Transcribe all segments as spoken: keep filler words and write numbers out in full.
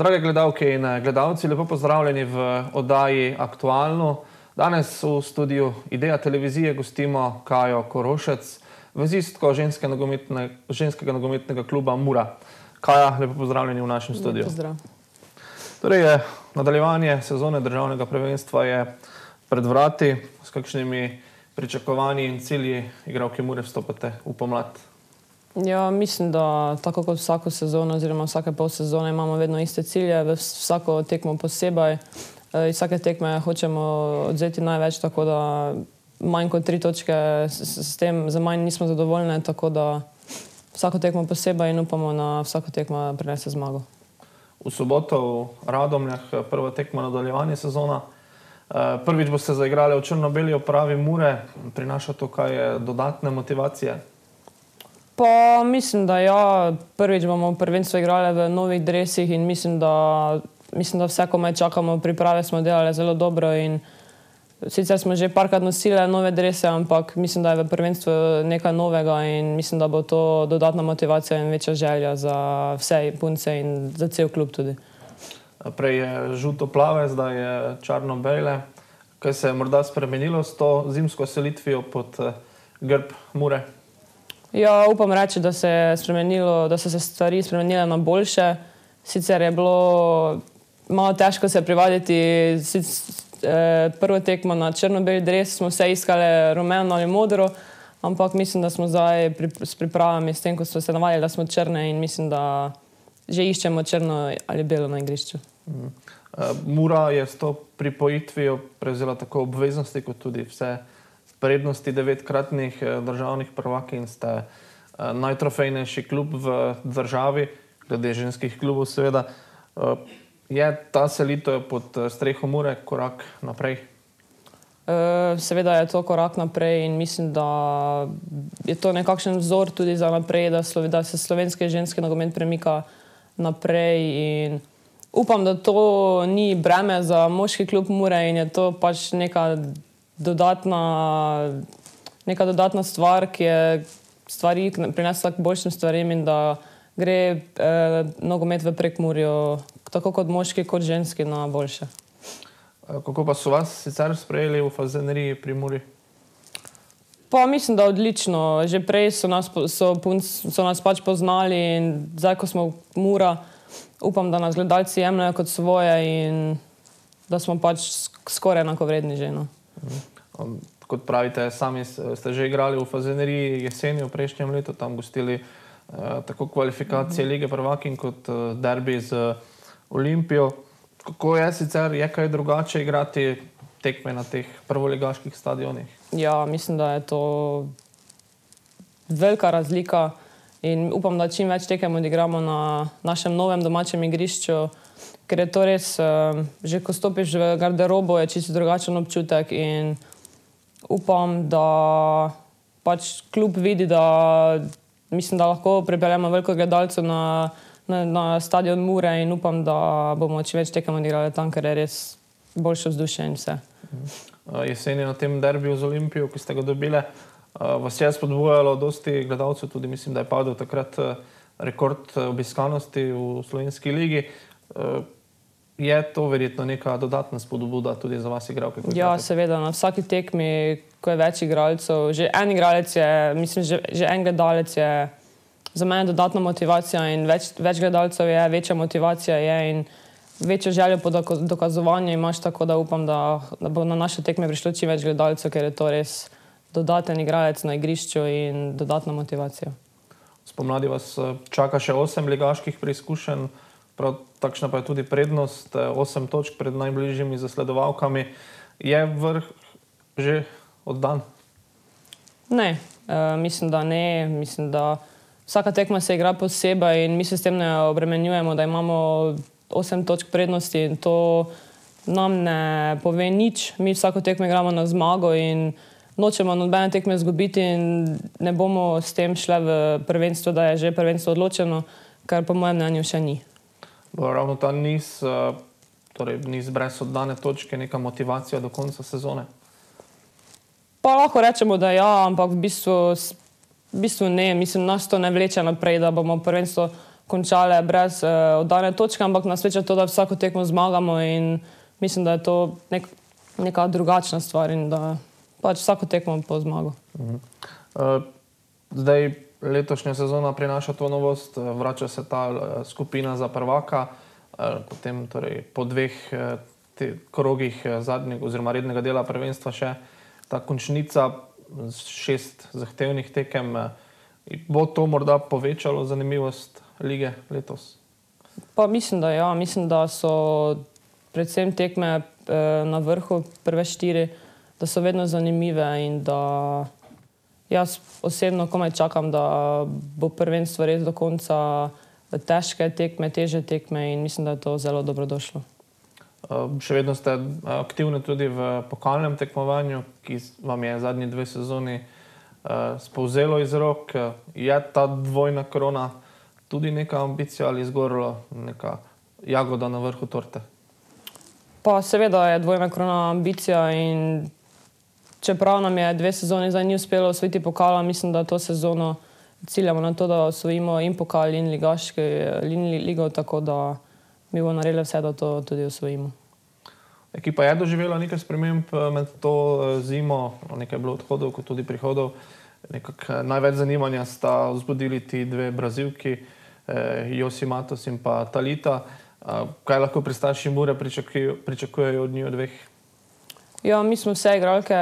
Drage gledalke in gledalci, lepo pozdravljeni v oddaji Aktualno. Danes v studiu Ideja televizije gostimo Kajo Korošec, vezistko ženske nogometne, ženskega nogometnega kluba Mura. Kaja, lepo pozdravljeni v našem studiu. Pozdrav. Torej, nadaljevanje sezone državnega prvenstva je pred vrati. S kakšnimi pričakovanji in cilji igralke Mure vstopate v pomlad? Ja, mislim, da tako kot vsako sezono oziroma vsake pol sezone imamo vedno iste cilje, vsako tekmo posebej. Iz vsake tekme hočemo odzeti največ, tako da manj kot tri točke s tem za manj nismo zadovoljne, tako da vsako tekmo posebej in upamo na vsako tekmo prinese zmago. V soboto v Radomljah prva tekma nadaljevanje sezona. Prvič boste zaigrali v črno-beli opravi Mure. Prinaša to kaj dodatne motivacije? Pa mislim, da ja, prvič bomo prvenstvo igrali v novih dresih in mislim, da, mislim, da vse komaj čakamo, priprave smo delali zelo dobro in sicer smo že parkrat nosili nove drese, ampak mislim, da je v prvenstvu nekaj novega in mislim, da bo to dodatna motivacija in večja želja za vse punce in za cel klub tudi. Prej je žuto-plave, zdaj je črno-bele. Kaj se je morda spremenilo s to zimsko selitvijo pod grb Mure? Ja, upam reči, da se je spremenilo, da so se stvari spremenile na boljše. Sicer je bilo malo težko se privaditi. Prvo tekmo na črno-beli dres smo vse iskali rumeno ali modro, ampak mislim, da smo zdaj s pripravami, s tem, ko smo se navadili, da smo črne in mislim, da že iščemo črno ali belo na igrišču. Mura je s to pripojitvijo prevzela tako obveznosti, kot tudi vse prednosti devetkratnih državnih prvaki in ste najtrofejnejši klub v državi, glede ženskih klubov seveda. Je ta selitev pod streho Mure korak naprej? Seveda je to korak naprej in mislim, da je to nekakšen vzor tudi za naprej, da se slovenski ženski nogomet premika naprej in upam, da to ni breme za moški klub Mure in je to pač neka dodatna, neka dodatna stvar, ki je stvari prinesla k boljšim stvarem in da gre eh, nogomet v Prekmurju, tako kot moški, kot ženski, na boljše. Kako pa so vas sicer sprejeli v Fazaneriji pri Muri? Pa mislim, da odlično. Že prej so nas, so, so nas pač poznali in zdaj, ko smo Mura, upam, da nas gledalci jemljajo kot svoje in da smo pač skoraj enakovredni že, no. Kot pravite, sami ste že igrali v Fazaneriji jeseni v prejšnjem letu, tam gostili tako kvalifikacije Lige prvakinj kot derbi z Olimpijo. Kako je sicer, je kaj drugače igrati tekme na teh prvoligaških stadionih? Ja, mislim, da je to velika razlika in upam, da čim več tekem odigramo na našem novem domačem igrišču, ker je to res, že ko stopiš v garderobo, je čisto drugačen občutek in upam, da pač klub vidi, da mislim, da lahko pripeljemo veliko gledalcev na, na, na stadion Mure in upam, da bomo čim več tekem odigrali tam, ker je res boljše vzdušje in vse. Jeseni na tem derbiju z Olimpijo, ki ste ga dobile, vas je spodbujalo dosti gledalcev, tudi mislim, da je padel takrat rekord obiskanosti v slovenski ligi. Je to verjetno neka dodatna spodbuda tudi za vas igralke? Ja, seveda, na vsaki tekmi, ko je več igralcev, že en igralec je, mislim, že, že en gledalec je za mene dodatna motivacija in več, več gledalcev je, večja motivacija je in večjo željo po dokazovanju imaš, tako da upam, da, da bo na naše tekme prišlo čim več gledalcev, ker je to res dodaten igralec na igrišču in dodatna motivacija. Spomladi vas čaka še osem ligaških preizkušenj, prav takšna pa je tudi prednost, osem točk pred najbližjimi zasledovalkami. Je vrh že oddan? Ne, uh, mislim, da ne. Mislim, da vsaka tekma se igra posebej in mi se s tem ne obremenjujemo, da imamo osem točk prednosti in to nam ne pove nič. Mi vsako tekmo igramo na zmago in nočemo nobene tekme izgubiti in ne bomo s tem šle v prvenstvo, da je že prvenstvo odločeno, kar po mojem mnenju še ni. Ravno ta niz, torej niz brez oddane točke, neka motivacija do konca sezone? Pa lahko rečemo, da ja, ampak v bistvu, v bistvu ne. Mislim, nas to ne vleče naprej, da bomo prvenstvo končale brez uh, oddane točke, ampak nas sreča to, da vsako tekmo zmagamo in mislim, da je to nek, neka drugačna stvar in da pač vsako tekmo po zmago. Uh-huh. uh, zdaj letošnja sezona prinaša to novost, vrača se ta uh, skupina za prvaka, uh, potem torej po dveh uh, te, krogih uh, zadnjega oziroma rednega dela prvenstva še ta končnica, šest zahtevnih tekem. Uh, bo to morda povečalo zanimivost lige letos? Pa mislim, da ja. Mislim, da so predvsem tekme eh, na vrhu, prve štiri, da so vedno zanimive in da jaz osebno komaj čakam, da bo prvenstvo res do konca težke tekme, teže tekme in mislim, da je to zelo dobrodošlo. Uh, še vedno ste aktivni tudi v pokalnem tekmovanju, ki vam je zadnji dve sezoni uh, spovzelo iz rok. Je ta dvojna krona tudi neka ambicija ali zgoraj neka jagoda na vrhu torte? Pa seveda je dvojna krona ambicija in čeprav nam je dve sezoni zdaj ni uspelo osvojiti pokala, mislim, da to sezono ciljamo na to, da osvojimo in pokal in ligaški in ligo, tako da mi bomo naredili vse, da to tudi osvojimo. Ekipa je doživela nekaj sprememb med to zimo, nekaj je bilo odhodov, kot tudi prihodov. Nekak največ zanimanja sta vzbudili ti dve Brazilki, eh, Josi Matos in pa Talita. Eh, kaj lahko pristaši Mure pričakujejo, pričakujejo od njih dveh? Ja, mi smo vse igralke,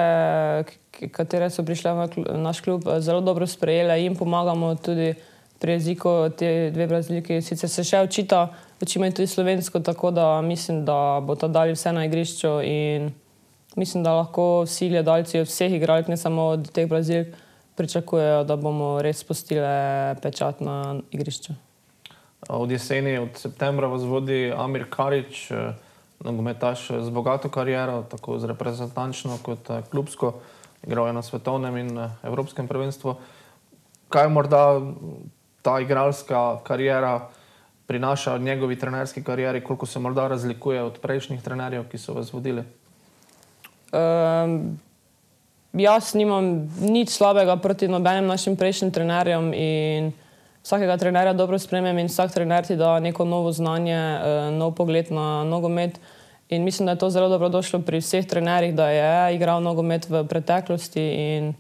katere so prišle v naš klub, zelo dobro sprejele in pomagamo tudi pri jeziku te dve Brazilki. Sicer se še učita, učimo tudi slovensko, tako da mislim, da bo to dali vse na igrišču in mislim, da lahko vsi gledalci od vseh igralk, ne samo od teh Brazilk, pričakujejo, da bomo res spustile pečat na igrišču. Od jeseni, od septembra vas vodi Amir Karić, nogometaš z bogato kariero, tako z reprezentančno kot klubsko. Igral je na svetovnem in evropskem prvenstvu. Kaj morda ta igralska kariera prinaša od njegovi trenerski karieri, koliko se morda razlikuje od prejšnjih trenerjev, ki so vas vodili? Um, jaz nimam nič slabega proti nobenim našim prejšnjim trenerjem in vsakega trenerja dobro spremem in vsak trener ti da neko novo znanje, nov pogled na nogomet in mislim, da je to zelo dobrodošlo pri vseh trenerjih, da je igral nogomet v preteklosti in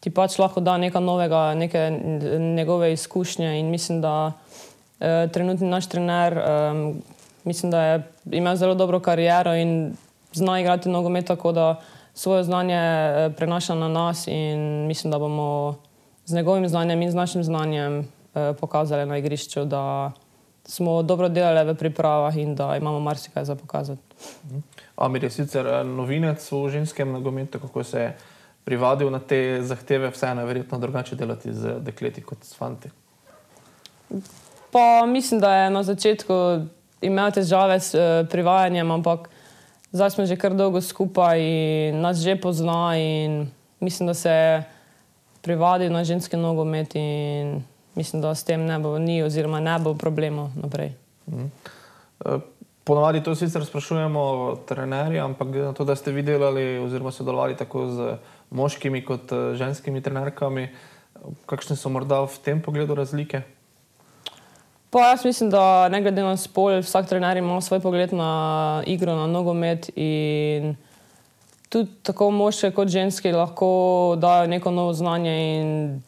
ti pač lahko da nekaj novega, neke njegove izkušnje in mislim, da eh, trenutni naš trener eh, mislim, da je imel zelo dobro kariero in zna igrati nogomet, tako da svoje znanje eh, prenaša na nas in mislim, da bomo z njegovim znanjem in z našim znanjem eh, pokazali na igrišču, da smo dobro delali v pripravah in da imamo marsikaj za pokazati. Amir je sicer novinec v ženskem nogometu, kako se je privadil na te zahteve, vseeno je verjetno drugače delati z dekleti kot s fanti. Pa mislim, da je na začetku imel težave s uh, privajanjem, ampak zdaj smo že kar dolgo skupaj in nas že pozna in mislim, da se je privadil na ženski nogomet in mislim, da s tem ne bo ni oziroma ne bo problemov naprej. Mm. Ponavadi to sicer sprašujemo trenerja, ampak na to, da ste vi delali oziroma sodelovali tako z moškimi kot ženskimi trenerkami, kakšne so morda v tem pogledu razlike? Pa jaz mislim, da ne glede na spol, vsak trener ima svoj pogled na igro, na nogomet in tudi tako moški kot ženski lahko dajo neko novo znanje in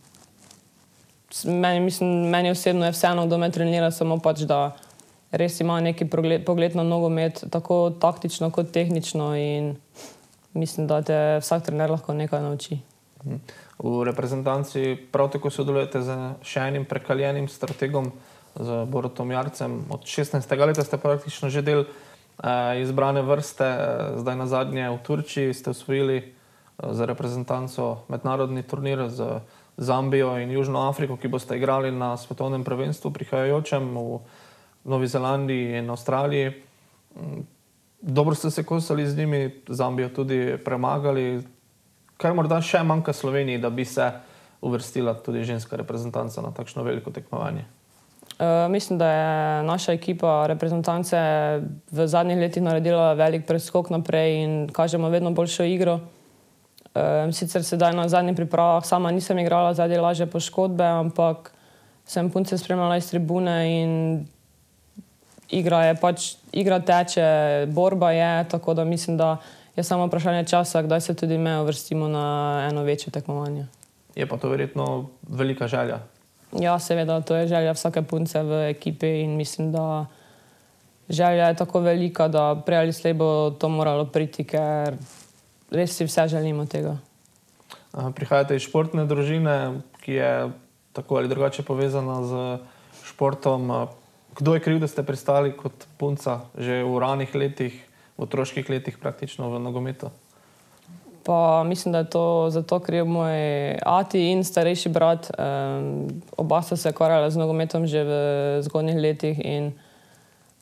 meni, mislim, meni osebno je vseeno, kdo me trenira, samo pač, da res ima neki pogled, pogled na nogomet, tako taktično kot tehnično in mislim, da te vsak trener lahko nekaj nauči. V reprezentanci prav tako sodelujete z še enim prekaljenim strategom, z Borutom Jarcem. Od šestnajstega leta ste praktično že del eh, izbrane vrste, zdaj na zadnje v Turčiji ste osvojili eh, za reprezentanco mednarodni turnir z Zambijo in Južno Afriko, ki boste igrali na svetovnem prvenstvu prihajajočem v Novi Zelandiji in Avstraliji. Dobro ste se kosali z njimi, Zambijo tudi premagali. Kaj morda še manjka Sloveniji, da bi se uvrstila tudi ženska reprezentanca na takšno veliko tekmovanje? Uh, mislim, da je naša ekipa reprezentance v zadnjih letih naredila velik preskok naprej in kažemo vedno boljšo igro. Uh, sicer sedaj na zadnjih pripravah sama nisem igrala zaradi lažje poškodbe, ampak sem punce spremljala iz tribune in igra je pač, igra teče, borba je, tako da mislim, da je samo vprašanje časa, kdaj se tudi me uvrstimo na eno večje tekmovanje. Je pa to verjetno velika želja. Ja, seveda, to je želja vsake punce v ekipi in mislim, da želja je tako velika, da prej ali slej bo to moralo priti, ker res si vse želimo tega. Prihajate iz športne družine, ki je tako ali drugače povezana z športom. Kdo je kriv, da ste pristali kot punca že v ranih letih, v otroških letih praktično v nogometu? Pa mislim, da je to zato kriv moj ati in starejši brat. Um, oba sta se ukvarjala z nogometom že v zgodnjih letih in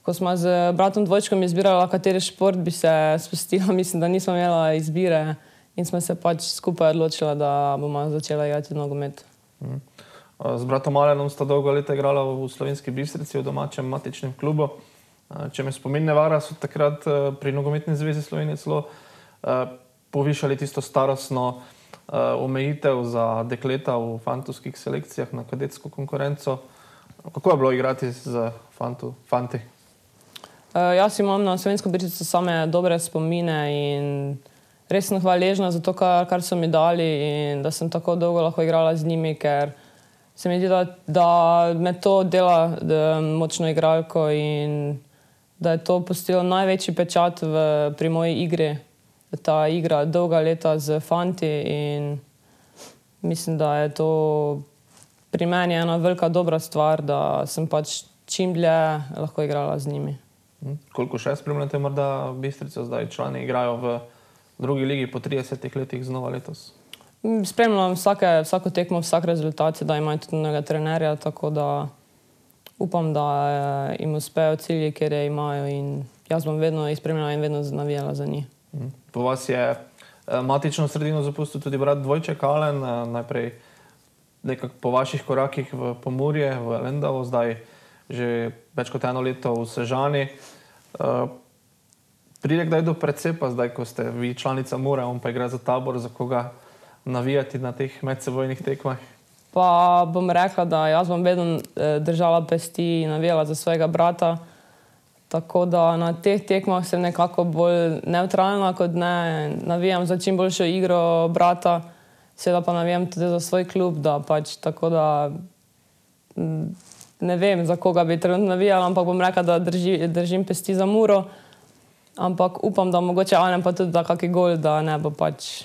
ko smo z bratom dvojčkom izbirala, kateri šport bi se spustila, mislim, da nismo imela izbire in smo se pač skupaj odločila, da bomo začela igrati nogomet. Mm. Z bratom Alenom sta dolgo leta igrala v Slovenski Bistrici, v domačem matičnem klubu. Če me spomin ne vara, so takrat pri Nogometni zvezi Slovenije celo povišali tisto starostno omejitev za dekleta v fantovskih selekcijah na kadetsko konkurenco. Kako je bilo igrati z fantu, fanti? Jaz imam na Slovensko Bistrico same dobre spomine in res sem hvaležna za to, kar, kar so mi dali in da sem tako dolgo lahko igrala z njimi, ker se mi zdi, da, da me to dela da, močno igralko in da je to pustilo največji pečat v, pri moji igri. Ta igra dolga leta z fanti in mislim, da je to pri meni ena velika dobra stvar, da sem pač čim dlje lahko igrala z njimi. Koliko še spremljate morda Bistrico? Zdaj člani igrajo v drugi ligi po tridesetih letih znova letos. Spremljam vsake, vsako tekmo, vsak rezultat, da imajo tudi mnoga trenerja, tako da upam, da jim uspejo cilji, kjer je imajo in jaz bom vedno jih spremljala in vedno navijala za njih. Po vas je matično sredino zapustil tudi brat dvojček Alen, najprej nekako po vaših korakih v Pomurje, v Lendavo, zdaj že več kot eno leto v Sežani. Pride kdaj do precepa, zdaj ko ste vi članica Mure, on pa igra za Tabor, za koga navijati na teh medsebojnih tekmah? Pa bom rekla, da jaz bom vedno držala pesti in navijala za svojega brata. Tako da na teh tekmah sem nekako bolj neutralna, kot ne navijam za čim boljšo igro brata. Seveda pa navijam tudi za svoj klub, da pač tako da ne vem, za koga bi trenutno navijala, ampak bom rekla, da drži, držim pesti za Muro. Ampak upam, da mogoče Alen pa tudi da kaki gol, da ne bo pač,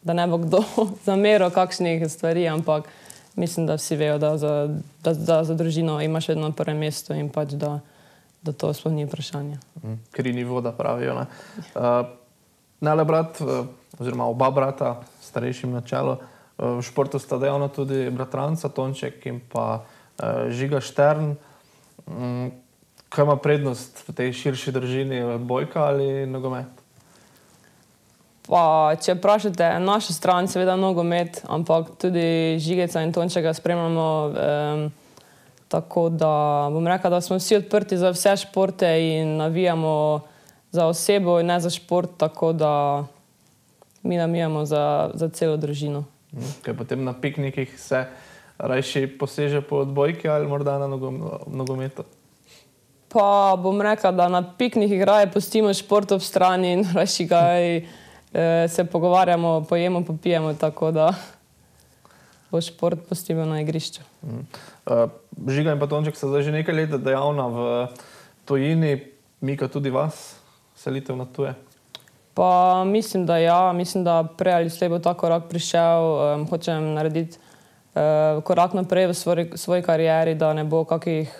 da ne bo kdo zameril kakšnih stvari, ampak mislim, da vsi vejo, da za, da, da za družino imaš vedno prvo mesto in pač da, da to sploh ni vprašanje. Kri ni voda, pravijo, ne? Uh, Nele brat, oziroma oba brata, starejšim na čelu, v športu sta dejavna tudi bratranca Tonček in pa uh, Žiga Štern. Um, kaj ima prednost v tej širši družini, bojka ali nogomet? Pa, če vprašate našo stran, seveda nogomet, ampak tudi Žigeca in Tončeka spremljamo um, tako, da bom rekla, da smo vsi odprti za vse športe in navijamo za osebo in ne za šport, tako da mi navijamo za, za celo družino. Kaj potem na piknikih se rajši poseže po odbojki ali morda na nogometu? Pa bom rekla, da na piknikih raje pustimo šport ob strani in rajši kaj e, se pogovarjamo, pojemo, popijemo, tako da bo šport pustimo na igrišču. Mm. Uh, Žiga in pa Tonček sta zdaj že nekaj let dejavna v tujini. Mika, tudi vas selitev na tuje? Pa mislim, da ja. Mislim, da prej ali slej bo ta korak prišel. Um, hočem narediti uh, korak naprej v svoj, svoji karieri, da ne bo kakih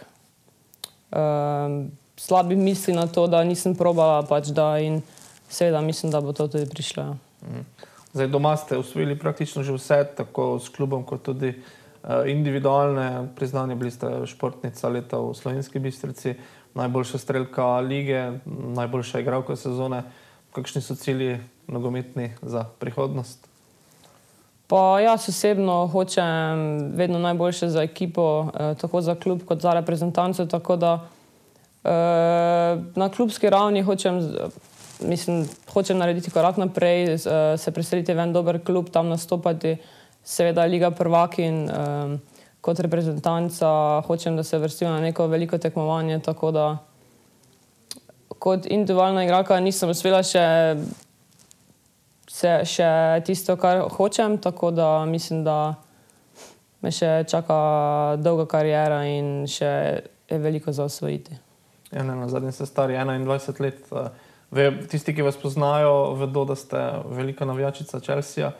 um, slabih misli na to, da nisem probala pač da in seveda mislim, da bo to tudi prišlo. Mm. Zdaj doma ste osvojili praktično že vse, tako s klubom kot tudi uh, individualne priznanje. Bili ste športnica leta v Slovenski Bistrici, najboljša strelka lige, najboljša igralka sezone. Kakšni so cilji nogometni za prihodnost? Pa jaz osebno hočem vedno najboljše za ekipo, eh, tako za klub kot za reprezentanco, tako da eh, na klubski ravni hočem, mislim, hočem narediti korak naprej, eh, se preseliti v en dober klub, tam nastopati, seveda Liga prvakinj, eh, kot reprezentanca hočem, da se vrstim na neko veliko tekmovanje, tako da kot individualna igralka nisem uspela še, se, še tisto, kar hočem, tako da mislim, da me še čaka dolga karijera in še je veliko za osvojiti. Ja, ne, na zadnji ste stari enaindvajset let. Ve, tisti, ki vas poznajo, vedo, da ste velika navijačica Chelsea.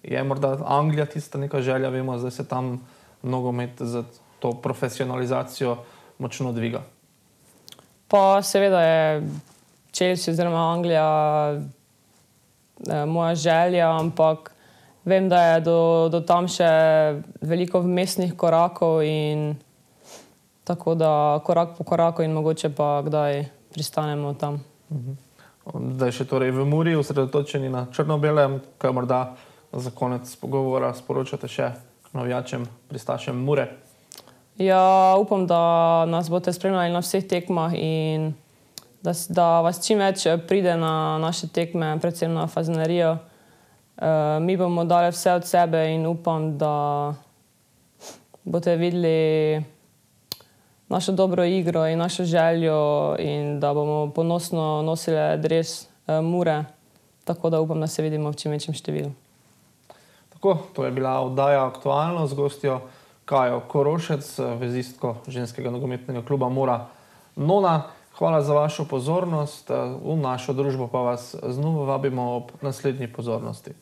Je morda Anglija tista neka želja, vemo, zdaj se tam nogomet za to profesionalizacijo močno dviga. Pa seveda je Chelsea oziroma Anglija eh, moja želja, ampak vem, da je do, do tam še veliko vmesnih korakov in tako da korak po koraku in mogoče pa kdaj pristanemo tam. Mhm. Zdaj še torej v Muri, osredotočeni na črno-belem, kaj morda za konec pogovora sporočate še navijačem, pristašem Mure? Ja, upam, da nas boste spremljali na vseh tekmah in da, da vas čim več pride na naše tekme, predvsem na Fazenerijo. E, mi bomo dali vse od sebe in upam, da boste videli našo dobro igro in našo željo in da bomo ponosno nosili dres e, Mure, tako da upam, da se vidimo v čim večjem številu. Tako, to je bila oddaja Aktualno z gostjo Kajo Korošec, vezistko ženskega nogometnega kluba Mura Nona. Hvala za vašo pozornost, v našo družbo pa vas znova vabimo ob naslednji pozornosti.